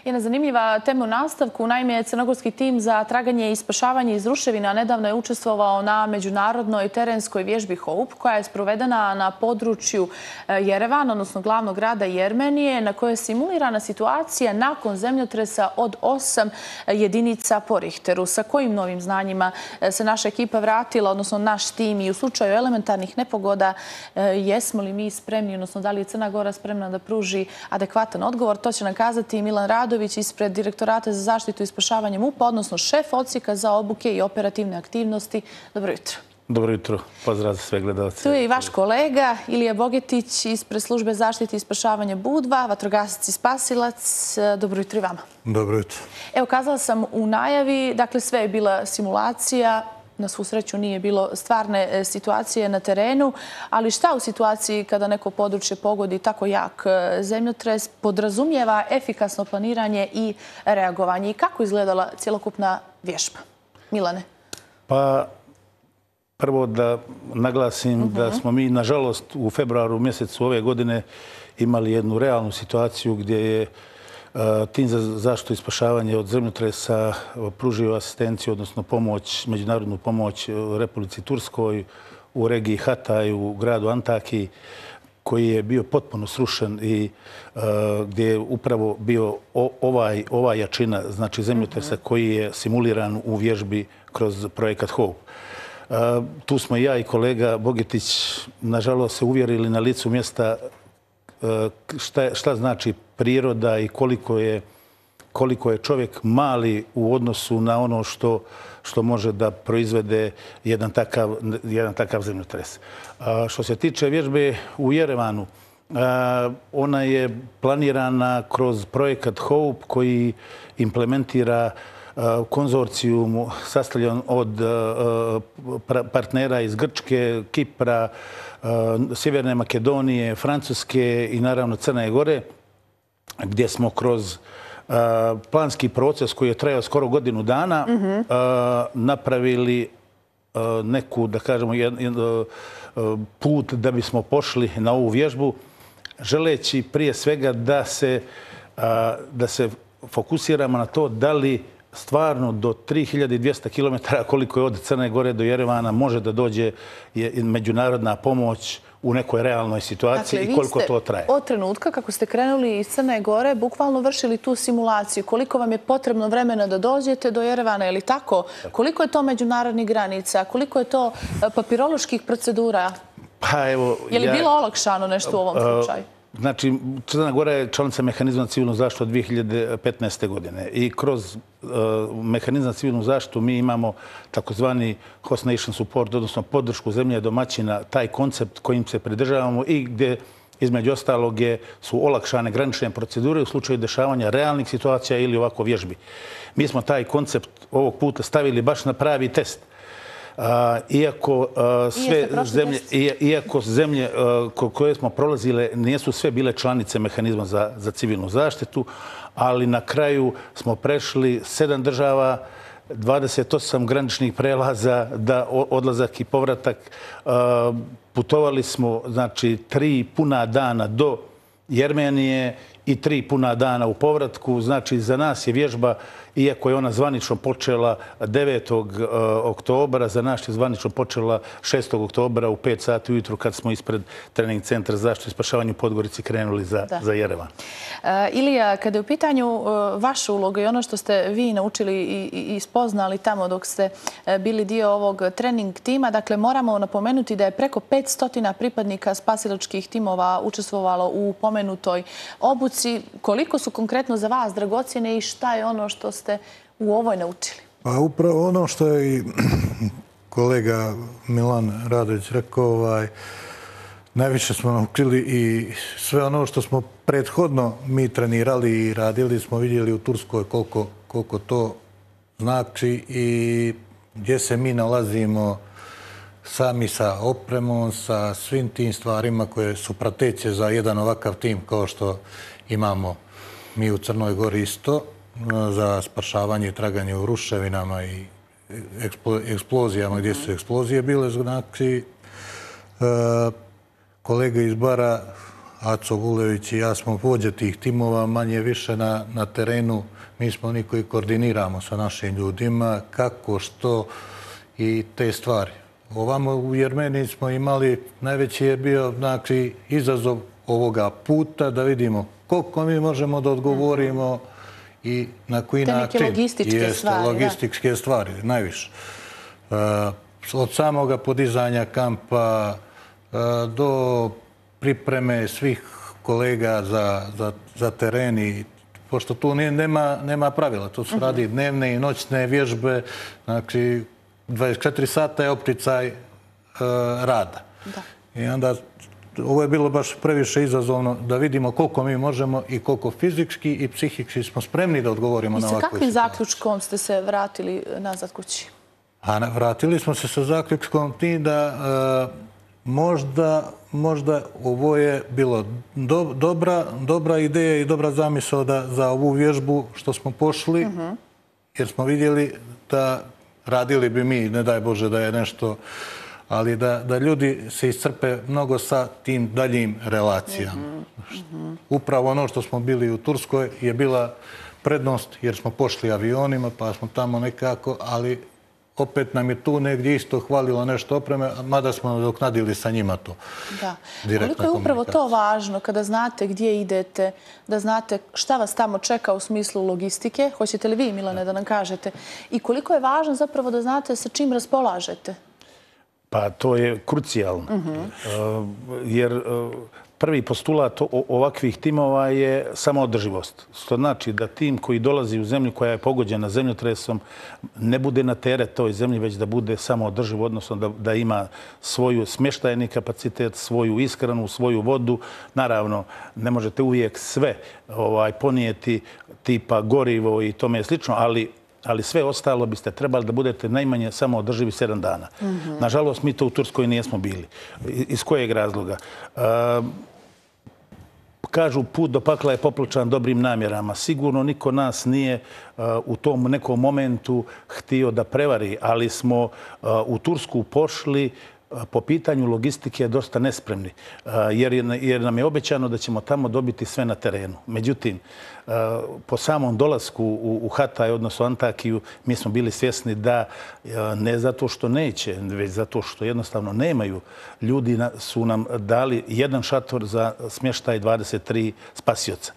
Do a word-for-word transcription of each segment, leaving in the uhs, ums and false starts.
Jedna zanimljiva tema u nastavku. Naime, crnogorski tim za traganje i spašavanje iz ruševina nedavno je učestvovao na međunarodnoj terenskoj vježbi HOPE, koja je sprovedena na području Jerevana, odnosno glavnog grada Jermenije, na kojoj je simulirana situacija nakon zemljotresa od osam jedinica po Richteru. Sa kojim novim znanjima se naša ekipa vratila, odnosno naš tim, i u slučaju elementarnih nepogoda, jesmo li mi spremni, odnosno da li je Crna Gora spremna da pruži adekvatan odgovor? To će nam kazati Milan Radović ispred Direktorata za zaštitu i spašavanje MUP-a, odnosno šef odsjeka za obuke i operativne aktivnosti. Dobro jutro. Dobro jutro. Pozdrav za sve gledalce. Tu je i vaš kolega Ilija Bogetić ispred službe zaštite i spašavanja Budva, vatrogasac i spasilac. Dobro jutro i vama. Dobro jutro. Evo, kazala sam u najavi, dakle sve je bila simulacija. Na svu sreću nije bilo stvarne situacije na terenu, ali šta u situaciji kada neko područje pogodi tako jak zemljotres podrazumijeva efikasno planiranje i reagovanje? I kako izgledala cjelokupna vježba? Milane? Pa, prvo da naglasim da smo mi, nažalost, u februaru mjesecu ove godine imali jednu realnu situaciju gdje je tim za zaštitu i spašavanje od zemljotresa pružio asistenciju, odnosno pomoć, međunarodnu pomoć Republici Turskoj u regiji Hatay, u gradu Antaki, koji je bio potpuno srušen i gdje je upravo bio ovaj, ova jačina, znači zemljotresa koji je simuliran u vježbi kroz projekat HOPE. Tu smo ja i kolega Bogetić, nažalost, se uvjerili na licu mjesta šta, šta znači priroda i koliko je, koliko je čovjek mali u odnosu na ono što, što može da proizvede jedan takav, jedan takav zemljotres. A što se tiče vježbe u Jerevanu, a, ona je planirana kroz projekat HOPE koji implementira konzorcijum sastavljen od partnera iz Grčke, Kipra, Sjeverne Makedonije, Francuske i naravno Crne Gore, gdje smo kroz planski proces koji je trajao skoro godinu dana napravili neku, da kažemo, put da bismo pošli na ovu vježbu, želeći prije svega da se, da se fokusiramo na to da li stvarno do tri hiljade dvjesto kilometara koliko je od Crne Gore do Jerevana može da dođe međunarodna pomoć u nekoj realnoj situaciji, dakle, i koliko to traje. Od trenutka kako ste krenuli iz Crne Gore bukvalno vršili tu simulaciju. Koliko vam je potrebno vremena da dođete do Jerevana, je li tako? Koliko je to međunarodnih granica? Koliko je to papiroloških procedura? Pa evo... Je li bilo olakšano nešto u ovom slučaju? Znači, Crna Gora je članica mehanizma civilnu zaštitu od dvije hiljade petnaeste. godine i kroz uh, mehanizam civilnu zaštitu mi imamo takozvani host nation support, odnosno podršku zemlje domaćina, taj koncept kojim se pridržavamo i gdje između ostalog je, su olakšane granične procedure u slučaju dešavanja realnih situacija ili ovako vježbi. Mi smo taj koncept ovog puta stavili baš na pravi test. Uh, iako, uh, sve zemlje, iako zemlje uh, koje smo prolazile nisu sve bile članice mehanizma za, za civilnu zaštitu, ali na kraju smo prešli sedam država, dvadeset osam graničnih prelaza, da odlazak i povratak. Uh, putovali smo, znači, tri puna dana do Jermenije i tri puna dana u povratku. Znači, za nas je vježba, iako je ona zvanično počela devetog oktobra, za nas je zvanično počela šestog oktobra u pet sati ujutru kad smo ispred trening centra za zaštitu i spašavanje u Podgorici krenuli za, za Jerevan. Uh, Ilija, kada je u pitanju uh, vaša uloga i ono što ste vi naučili i, i, i spoznali tamo dok ste uh, bili dio ovog trening tima, dakle moramo napomenuti da je preko petsto pripadnika spasilačkih timova učestvovalo u pomenutoj obuci. Koliko su konkretno za vas dragocjene i šta je ono što ste u ovoj naučili? Pa upravo ono što je i kolega Milan Radović rekao, ovaj, najviše smo naučili i sve ono što smo prethodno mi trenirali i radili, smo vidjeli u Turskoj koliko, koliko to znači i gdje se mi nalazimo sami sa opremom, sa svim tim stvarima koje su prateće za jedan ovakav tim kao što imamo mi u Crnoj Gori isto, za spašavanje i traganje u ruševinama i eksplozijama gdje su eksplozije bile. Znači, kolega iz Bara Aco Vulević i ja smo vođe tih timova, manje više na, na terenu. Mi smo oni koji koordiniramo sa našim ljudima, kako, što i te stvari. Ovamo u Jermeniji smo imali, najveći je bio znači, izazov ovoga puta da vidimo koliko mi možemo da odgovorimo i na koji način. Te neke logističke Jeste, stvari. logističke da. stvari, najviše. Uh, od samoga podizanja kampa uh, do pripreme svih kolega za, za, za teren i pošto tu nema, nema pravila. Tu se radi dnevne i noćne vježbe, znači dvadeset četiri sata je opticaj uh, rada. Da. I onda ovo je bilo baš previše izazovno da vidimo koliko mi možemo i koliko fizički i psihički smo spremni da odgovorimo na ovakvu situaciju. I sa kakvim zaključkom ste se vratili nazad kući? A vratili smo se sa zaključkom ti da uh, možda, možda ovo je bilo do, dobra, dobra ideja i dobra zamisao da, za ovu vježbu što smo pošli, uh-huh. jer smo vidjeli da radili bi mi, ne daj Bože da je nešto, ali da, da ljudi se iscrpe mnogo sa tim daljim relacijama. Uh-huh. Upravo ono što smo bili u Turskoj je bila prednost jer smo pošli avionima pa smo tamo nekako, ali opet nam je tu negdje isto hvalilo nešto opreme, mada smo nadoknadili sa njima to. Da. Koliko je upravo to važno kada znate gdje idete, da znate šta vas tamo čeka u smislu logistike? Hoćete li vi, Milane, da nam kažete? I koliko je važno zapravo da znate sa čim raspolažete? Pa to je krucijalno. Uh-huh. Jer prvi postulat ovakvih timova je samoodrživost. Što znači da tim koji dolazi u zemlju koja je pogođena zemljotresom ne bude na teret toj zemlji, već da bude samoodrživ, odnosno da, da ima svoju smještajni kapacitet, svoju ishranu, svoju vodu. Naravno, ne možete uvijek sve ovaj, ponijeti tipa gorivo i tome slično, ali ali sve ostalo biste trebali da budete najmanje samo održivi sedam dana. Mm-hmm. Nažalost, mi to u Turskoj nismo bili. Iz kojeg razloga? Uh, kažu, put do pakla je popločan dobrim namjerama. Sigurno niko nas nije uh, u tom nekom momentu htio da prevari, ali smo uh, u Tursku pošli po pitanju logistike dosta nespremni, jer, jer nam je obećano da ćemo tamo dobiti sve na terenu. Međutim, po samom dolasku u, u Hatay, odnosno Antakiju, mi smo bili svjesni da ne zato što neće, već zato što jednostavno nemaju. Ljudi su nam dali jedan šator za smještaj dvadeset tri spasioca.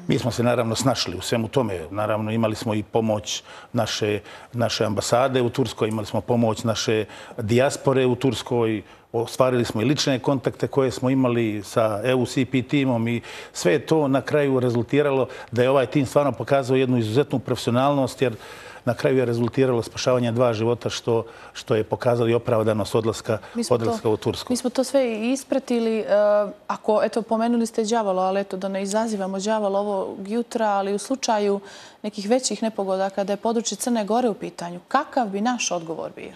Mi smo se naravno snašli u svemu tome. Naravno, imali smo i pomoć naše, naše ambasade u Turskoj, imali smo pomoć naše dijaspore u Turskoj, ostvarili smo i lične kontakte koje smo imali sa E U C P timom i sve je to na kraju rezultiralo da je ovaj tim stvarno pokazao jednu izuzetnu profesionalnost, jer na kraju je rezultiralo spašavanje dva života, što, što je pokazalo i opravdanost odlaska, odlaska to, u Tursku. Mi smo to sve ispratili. Uh, ako, eto, pomenuli ste đavolo, ali eto, da ne izazivamo đavolo ovog jutra, ali u slučaju nekih većih nepogoda kada je područje Crne Gore u pitanju, kakav bi naš odgovor bio?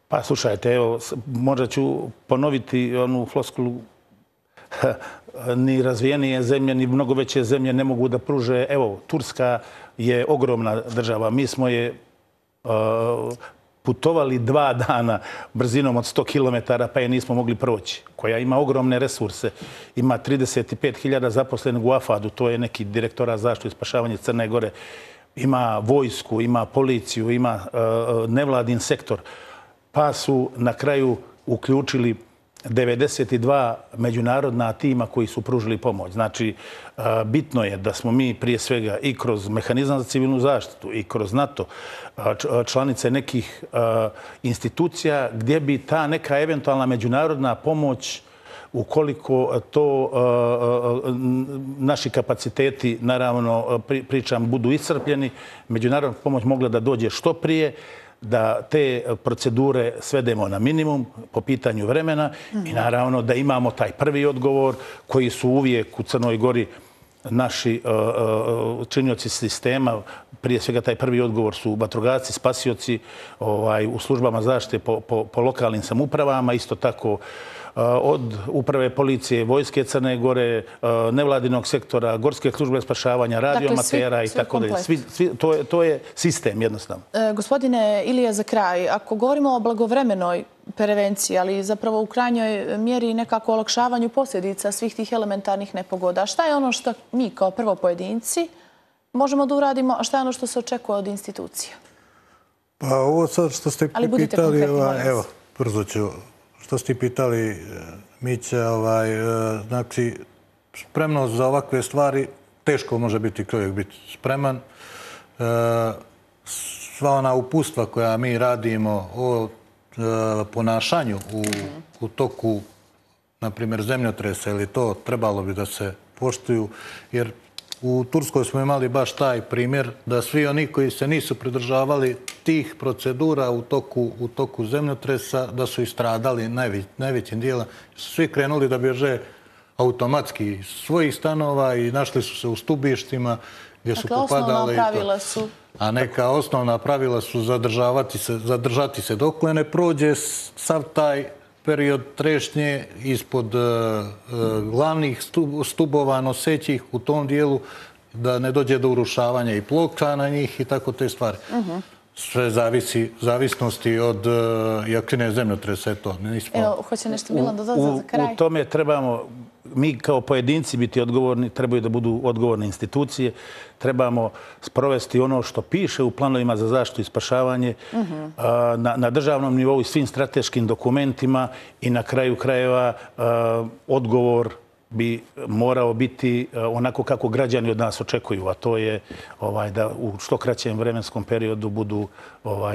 Pa slušajte, evo, možda ću ponoviti onu floskulu. Ni razvijenije zemlje, ni mnogo veće zemlje ne mogu da pruže. Evo, Turska je ogromna država. Mi smo je uh, putovali dva dana brzinom od sto kilometara, pa je nismo mogli proći. Koja ima ogromne resurse. Ima trideset pet hiljada zaposlenih u Afadu, to je neki direktorat zaštitu i spašavanje Crne Gore. Ima vojsku, ima policiju, ima uh, nevladin sektor. Pa su na kraju uključili devedeset dva međunarodna tima koji su pružili pomoć. Znači, bitno je da smo mi prije svega i kroz mehanizam za civilnu zaštitu i kroz NATO članice nekih institucija gdje bi ta neka eventualna međunarodna pomoć, ukoliko to naši kapaciteti, naravno pričam, budu iscrpljeni, međunarodna pomoć mogla da dođe što prije, da te procedure svedemo na minimum po pitanju vremena i naravno da imamo taj prvi odgovor koji su uvijek u Crnoj Gori naši činioci sistema prije svega taj prvi odgovor su vatrogasci, spasioci u službama zaštite po lokalnim samoupravama, isto tako od uprave policije, vojske Crne Gore, nevladinog sektora, gorske službe spašavanja, radioamatera i tako dalje. To je sistem jednostavno. Gospodine Ilija, za kraj, ako govorimo o blagovremenoj prevenciji, ali zapravo u krajnjoj mjeri nekako olakšavanju posljedica svih tih elementarnih nepogoda, šta je ono što mi kao prvo pojedinci možemo da uradimo, a šta je ono što se očekuje od institucija? Pa ovo sad što ste pitali... Ali budite konkretni, molim vas. Evo, brzo ću. Što ste pitali, Mića, znači, spremnost za ovakve stvari, teško može biti čovjek biti spreman. Sva ona upustva koja mi radimo o ponašanju u toku, na primjer, zemljotresa ili to, trebalo bi da se poštuju, jer u Turskoj smo imali baš taj primjer da svi oni koji se nisu pridržavali tih procedura u toku zemljotresa, da su istradali najvećim dijelom. Svi krenuli da bježe automatski iz svojih stanova i našli su se u stubištima gdje su popadali. Dakle, osnovna pravila su... A neka osnovna pravila su zadržati se dokle ne prođe sav taj period trešnje ispod glavnih stubova nosećih u tom dijelu, da ne dođe do urušavanja i ploča na njih i tako te stvari. Sve zavisi, zavisnosti od jačine zemljotresa. Evo, hoće nešto Milan da doda za kraj? U tome trebamo, mi kao pojedinci biti odgovorni, trebaju da budu odgovorne institucije, trebamo sprovesti ono što piše u planovima za zaštitu i spašavanje na državnom nivou i svim strateškim dokumentima i na kraju krajeva odgovor bi morao biti onako kako građani od nas očekuju, a to je da u što kraćem vremenskom periodu budu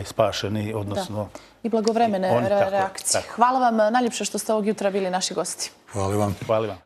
spašeni, odnosno... I blagovremene reakcije. Hvala vam najljepše što ste ovog jutra bili naši gosti. Hvala vam. Hvala vam.